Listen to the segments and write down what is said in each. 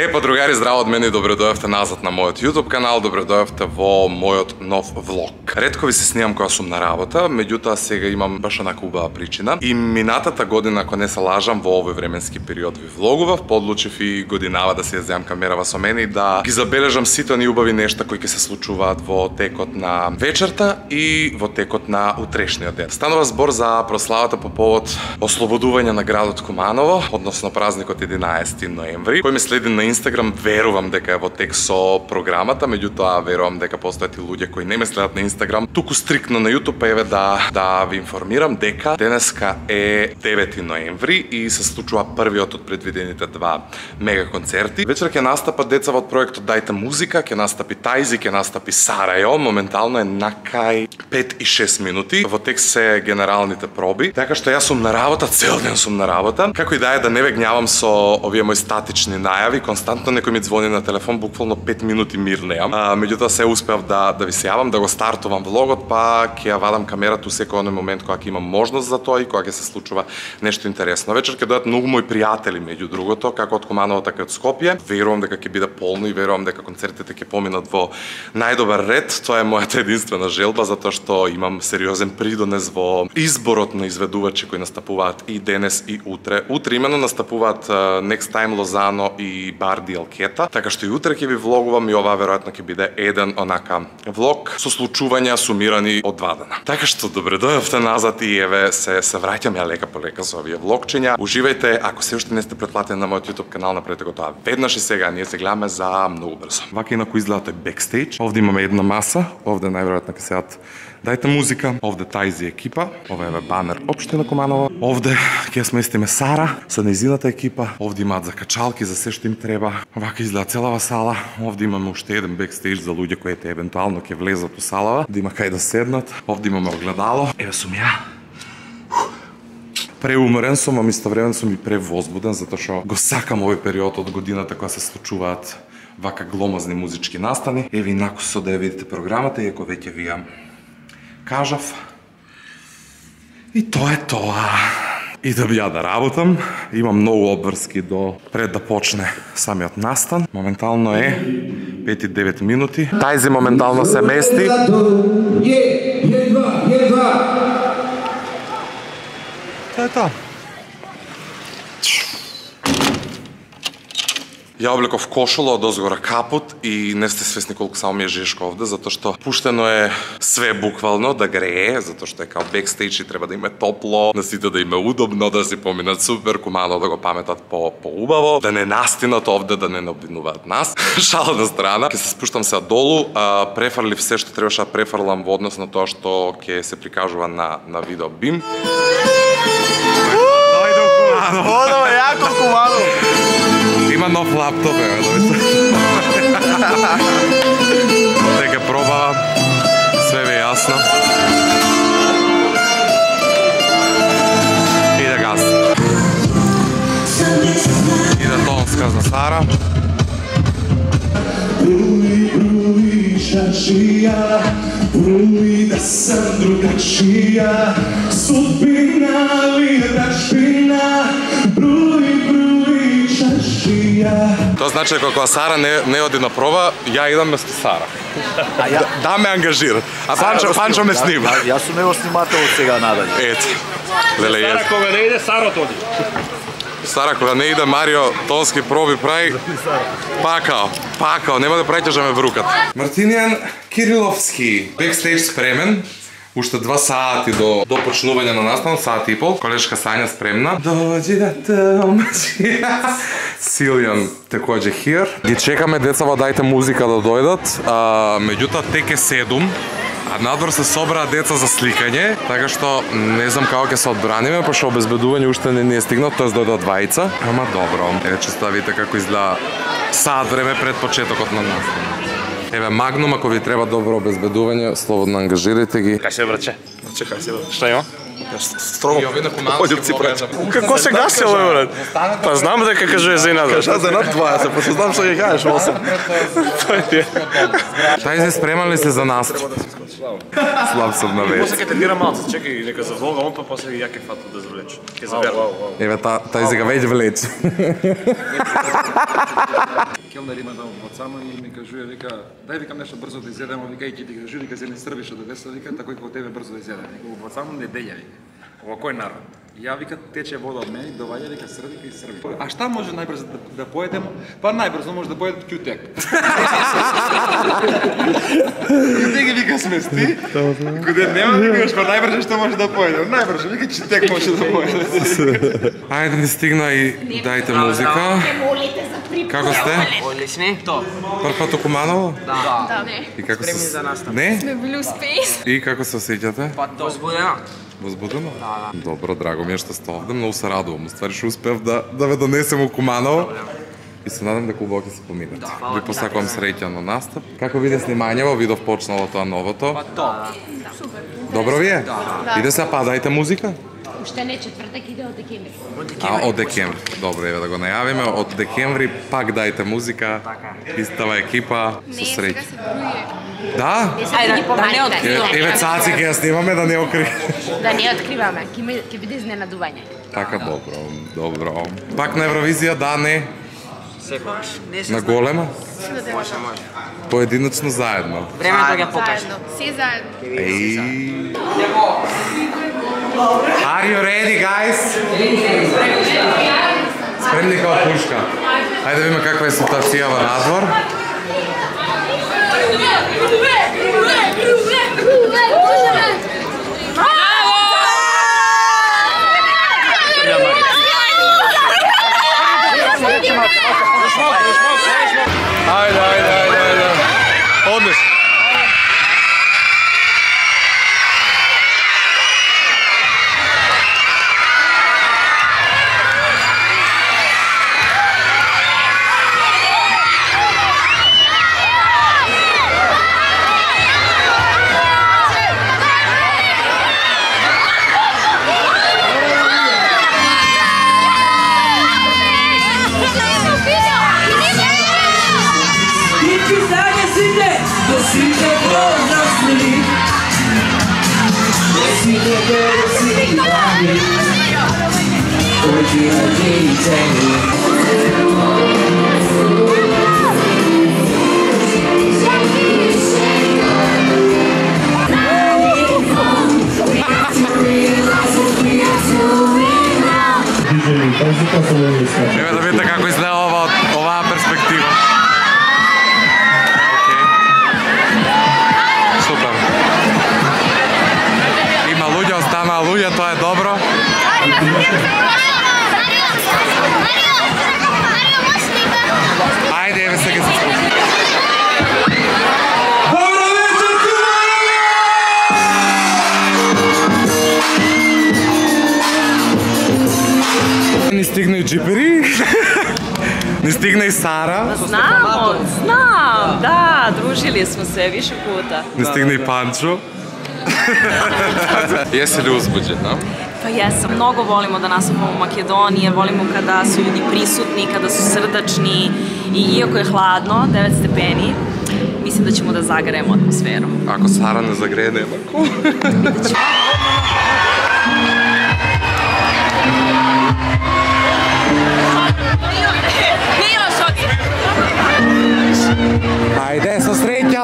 Па другари, здраво од мене и добре дојавте назад на мојот YouTube канал, добре дојавте во мојот нов влог. Ретко ви се снимам кога сум на работа, меѓутоа сега имам баш онака убава причина. И минатата година, ако не се лажам, во овој временски период ви влогував, подлучив и годинава да се јаздам камерава со мене и да ги забележам сите они убави нешта кои ќе се случуваат во текот на вечерта и во текот на утрешниот ден. Станува збор за прославата по повод ослободување на градот Куманово, односно празникот 11 ноември, кој ме следи на Инстаграм, верувам дека е во тек со програмата, меѓутоа верувам дека постојат и луѓе кои не ме следат на Инстаграм, туку стриктно на YouTube, па еве да ви информирам дека денеска е 9 ноември и се случува првиот од предвидените два мега концерти. Вечер ќе настапат децава од проектот Дајте музика, ќе настапи Тајзи, ќе настапи Сарајо, моментално е на кај 5 и 6 минути. Во тек се генералните проби, така што јас сум на работа, цел ден сум на работа. Како и да е, да не ве гњавам со овие мои статични најави, константно некој ми звони на телефон, буквално 5 минути мир неам. Меѓутоа се успеав да ви се јавам, да го стартувам влогот, па ќе ја вадам камерата у секој оној момент кога ќе имам можност за тоа и кога ќе се случува нешто интересно. Вечер ќе дојдат многу мои пријатели меѓу другото, како од Куманово, така и од Скопје. Верувам дека ќе биде полно и верувам дека концертите ќе поминат во најдобар ред. Тоа е мојата единствена желба, затоа што имам сериозен придонес во изборот на изведувачи кои настапуваат и денес и утре. Утре именно настапуваат Next Time Лозано и Барди Алкета, така што и утре ќе ви влогувам и ова веројатно ќе биде еден онака влог со случувања сумирани од два дена. Така што добре дојавте назад и еве се враќам ја лека по лека со овие влогчиња. Уживајте, ако се уште не сте претплатени на мојот YouTube канал, направете го тоа веднаш и сега, ние се гледаме за многу брзо. Вака инаку изгледа тој бекстејдж. Овде имаме една маса, овде најверојатно ќе седат Дајте музика, овде Тајзи екипа, ова е банер општина Куманово. Овде ќе сместиме Сара со нејзината екипа, овде имаат закачалки за се што им треба. Вака изгледа целава сала. Овде имаме уште еден бекстејдж за луѓе кои евентуално ќе влезат у салава, да има кај да седнат. Овде имаме огледало. Еве сум ја. Преуморен сум, а истовремено сум и превозбуден, затоа што го сакам овој период од годината кога се случуваат вака гломазни музички настани. Еве инаку со да ја видите програмата, иако веќе ви ја кажав. И тоа е тоа. Идам ја да работам. Имам многу обврски до пред да почне самиот настан. Моментално е 5 и 9 минути. Тајзи моментално се мести. Тоа е тоа. Ја облеков кошула, од озгора капут и не сте свесни колку само ми е жешко овде, затоа што пуштено е све буквално да грее, затоа што е као бекстејдж и треба да има топло, на сите да има удобно, да си поминат супер, Куманово да го паметат по-убаво, да не настинат овде, да не обвинуваат нас. Шала на страна. Ќе се спуштам сега долу, префрлив се што требаше да префрлам во однос на тоа што ќе се прикажува на видео бим. Дојде Куманово. Одо, јако Куманово. Има нов лаптоп, дека пробава, све ве јасно. И да гаси. И да тонска за Сара. Бруи шашија, бруи да сам другачија, судбина ли дашбина, бруи шашија. Тоа значи дека кога Сара не оди на проба, ја идам место Сара. Да ме ангажира. А Панчо ме снима. Јас сум него снимател од сега надале. Ето. Леле, Сара кога не иде, Сарот оди. Сара кога не иде, Марио тонски проби прави. Пакао, нема да праќаш да ме врукат. Мартинијан Кириловски, бекстејдж спремен. Уште 2 сати до почнување на настанот, сат и пол. Колешка Сања спремна. Доđi да те омачи. Силјан такоđe here. Ги чекаме децава, Дајте музика да дојдат. Меѓутоа тек е 7. А надвор се собраа деца за сликање, така што не знам како ќе се одбраниме, пошто обезбедување уште не е стигнат, тоест дојдат двајца. Ама добро. Еве чисто да видите како изгледа саат време пред почетокот на настанот. Еве Магнум, ако ви треба добро обезбедување, слободно ангажирајте ги. Кај се врче? Чекај се. Што има? Строго. Одјуци прача. Како се гаси овој брат? Па знам дека кажува за инат. Кажа за над 20, па знам што ќе кажеш 8. Тај се спремали се за нас. Слаб сум на веќе. После ќе те дира малце, чекај дека заволга он па после ја ќе фату да завлече. Ќе заверам. Еве тај сега веќе влече. Келнер има да од сама и ми кажува, вика, дај викам нешто брзо да изедеме, вика и ќе ти кажува, вика зелени срби што да веса, вика, тако и кога тебе брзо да изедеме. Вика, од сама неделја, вика. Ова кој народ? Ја вика тече вода од мене, доваѓа вика срби и срби. А шта може најбрзо да поедем? Па најбрзо може да поедем ќутек. Ќутек вика смести. Куде нема викаш па најбрзо што може да поедем? Најбрзо вика ќутек може да поедем. Ајде ни стигна и дајте музика. Како сте? Одлични. То. Прв пат у Куманово? Да. И како Спремни се за настап. Не? Сме били успејни. И како се осеќате? Па то. Возбудено. Возбудено? Да. Добро, драго ми е што сте овде, многу се радувам. Уствари што успев да ве донесем у Куманово. И се надам дека убаво ќе се поминете. Ви посакувам среќа на настап. Како биде снимањево, видов почнало тоа новото. Па то. Добро ви е? Иде се падајте музика? Уште не, четвртак иде од декември. Од декември. Добро, еве да го најавиме. Од декември пак дајте музика. Истава екипа. Со среќа. Да? Ајде, да не откриваме. Еве цаци ќе ја снимаме да не окри. Да не откриваме, ќе биде изненадување. Така, добро. Пак на Евровизија, да, не? Секогаш. На голема? Може. Поединочно заедно. Времето ќе покаже. Се заедно. Ей. Are you ready, guys? Спремни као пушка. Ајде да видиме каква е ситуација во надвор. Ајде. Одлично. Еве да видите како изгледа оваа перспектива. Супер. Има луѓе, останаа луѓе, тоа е добро. Ајде, еве сега се спусти. Ни стигна и джипери, ни стигна и Сара, Знам, да, друžili smo se više puta. ни стигна и Панчо. Jesi li uzbuđena? Pa jesam, mnogo volimo da nastupamo u Makedonije, volimo kada su ljudi prisutni, kada su srdačni i iako je hladno, 9 stepeni, mislim da ćemo da zagrejemo atmosferu. Ako Sara ne zagreje, nema ko. Ajde, sa sreća!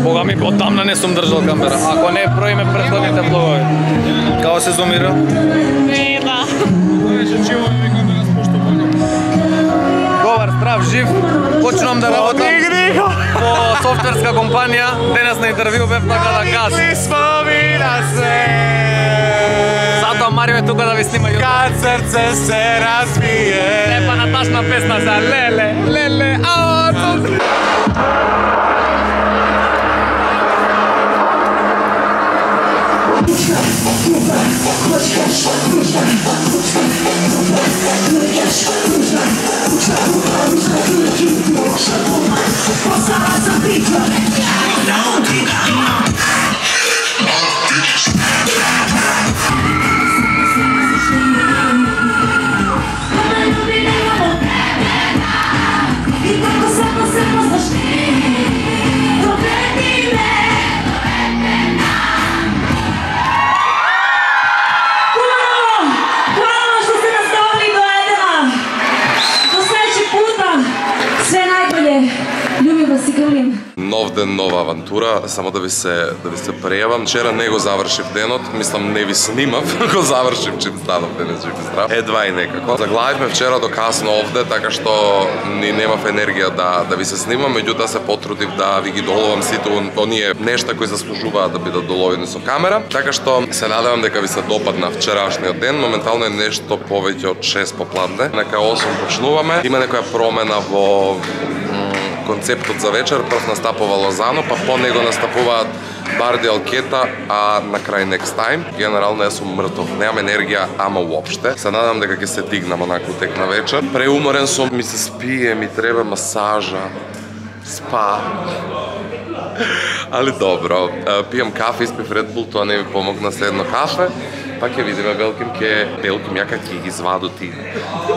Бога ми, од тамна не сум држал камера. Ако не броиме претходните влогови. Како се зумира? Ne, da. Добар, здрав, жив. Почнувам да работам по софтвер менаџерска компанија, денес на интервју бев така да газ. Затоа Марио е тука да ви снима јутуб. Kad srce se razbije. Лепа наташна песна за леле, леле, ао, Нов ден, нова авантура, само да ви се прејавам. Вчера не го завршив денот, мислам не ви снимав, го завршив чим станав денес жив и здрав. Едва и некако. Заглавивме вчера до касно овде, така што ни немав енергија да ви се снимам, меѓутоа се потрудив да ви ги доловам сите оние нешта кои заслужуваат да бидат доловени со камера. Така што се надевам дека ви се допадна вчерашниот ден. Моментално е нешто повеќе од 6 попладне. Нека 8 почнуваме. Има некоја промена во концептот за вечер. Прв настапува Лозано, па по него настапуваат Барди Алкета, а на крај Next Time. Генерално јас сум мртов, немам енергија, ама уопште. Се надам дека ќе се дигнам онаку тек на вечер. Преуморен сум, ми се спие, ми треба масажа, спа. Али добро, пијам кафе, испив Red Bull, тоа не ми помогна се едно кафе. Па ќе видиме, Белким јака ќе ги извадути.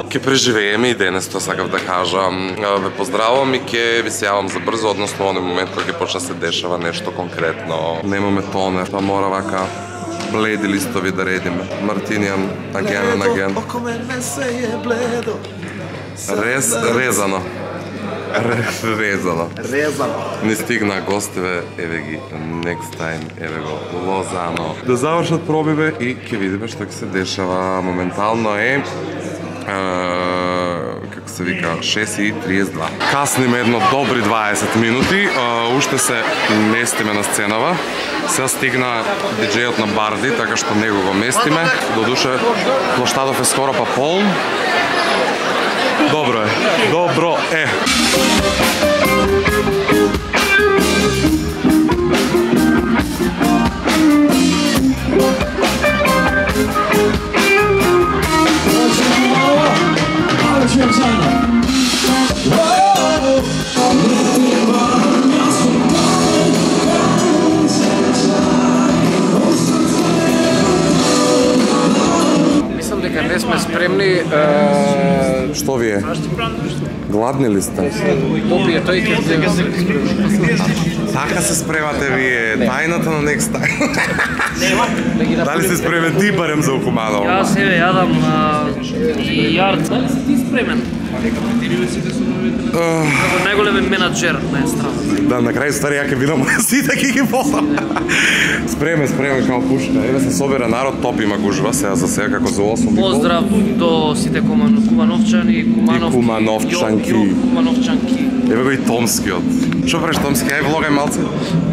Ќе преживееме и денес, тоа сакав да кажам. Ве поздравувам и ќе ви се јавам за брзо, односно оној момент кога ќе почне се дешава нешто конкретно. Немаме тонер, па мора вака бледи листови да редиме. Мартинијан, again and again. Резано. Резано. Не стигна гостеве, еве ги, Next Time, еве го, Лозано. Да завршат пробиве и ќе видиме што ќе се дешава. Моментално е како се вика, 6:32. Касниме едно добри 20 минути, уште се местиме на сценава. Сега стигна диџејот на Барди, така што него го местиме. Додуше, плоштадов е скоро па полн. Добро е. Мислам дека не сме спремни. Што ви е? Гладни ли сте? Попие тој ќе Така се спремате вие, тајната на Next Time. Дали се спремен ти барем за Окуманово? Јас себе јадам и јард. Дали си ти спремен? Како најголем менаџер на естрадата. Да, на крај стари ја ќе видам сите ќе ги полам. Спремен као пушка. Еве се собира народ, топ има гужва, сега за сега како за 8. Поздрав до сите кумановчани и кумановчанки. Кумановчанки. Еве го и Томскиот. Што правиш Томски? Ај влогај малце.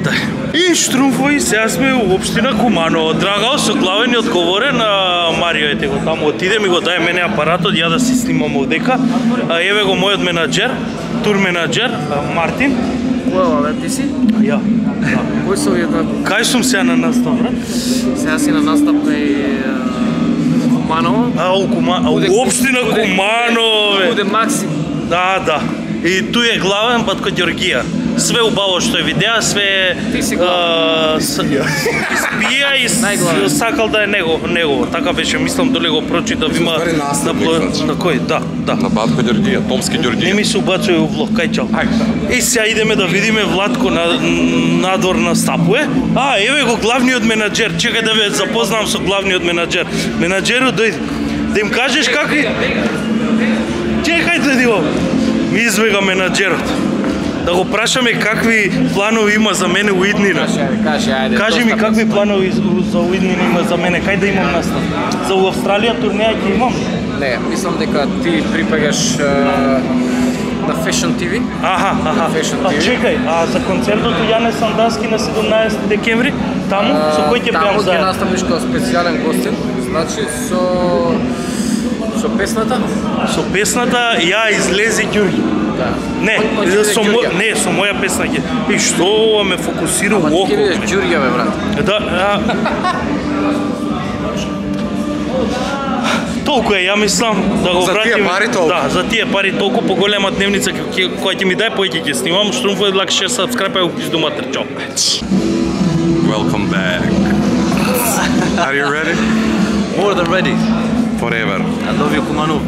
Да. И штрумфови, сега сме у општина Куманово. Драгал со главен и одговорен на Марио ете го таму отиде ми го дај мене апаратот ја да си снимам овдека. Еве го мојот менаџер, тур менаџер Мартин. Која бе, ти си? Ја. Кој се уједна? Кај сум сега на настап, брат? Сега си на настап кај Куманово. У општина Куманово. Буде Максим. Да. И тој е главен пат кај Ѓоргија. Све убаво што е видеа, све Ти си главен. Спија и сакал да е негово. Така беше, мислам доле го прочитав, има на кој? Да. На Батко Ѓоргија, Томски Ѓоргија. Не ми се убацува у влог, кај чал. И сега идеме да видиме Владко надвор на стапуе. Еве го главниот менаџер. Чекај да ве запознам со главниот менаџер. Менаџерот дојде. Да им кажеш какви... Чекај да ми избега менаџерот. Да го прашаме какви планови има за мене у иднина. Кажи ми какви планови за уиднина има за мене, кај да имам настап? За Австралија турнеја ќе имам? Не, мислам дека ти припагаш На Fashion TV. Аха. Fashion А TV. чекај, а за концертот Јане Сандаски на 17 декември, таму со кој ќе Таму беам ќе заедно? наставиш како специјален гостин, значи со песната. Со песната ја излезе Ѓурѓи. Да. Не, Ој, со Ѓурѓа. не, со моја песна ќе. И што ова ме фокусира у Ама ти око. ќе видиш Ѓурѓа бе брат. Да, толку е, ја мислам да го За тие вратим. пари толку? Да, за тие пари толку поголема дневница која ќе ми дај, поќе ќе снимам. Штруmpfove like, share, subscribe, и пизду матер, чао. Welcome back. Are you ready? More than ready. Forever. I love you, Kumanu.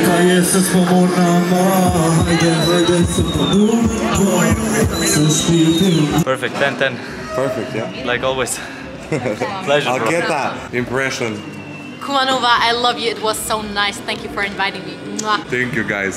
Кај се споморнама, хајде се подумба, се спите. Perfect, 10-10. Perfect, yeah. Like always. Pleasure, I'll bro. get that impression. Kumanova, I love you. It was so nice. Thank you for inviting me. Mwah. Thank you, guys.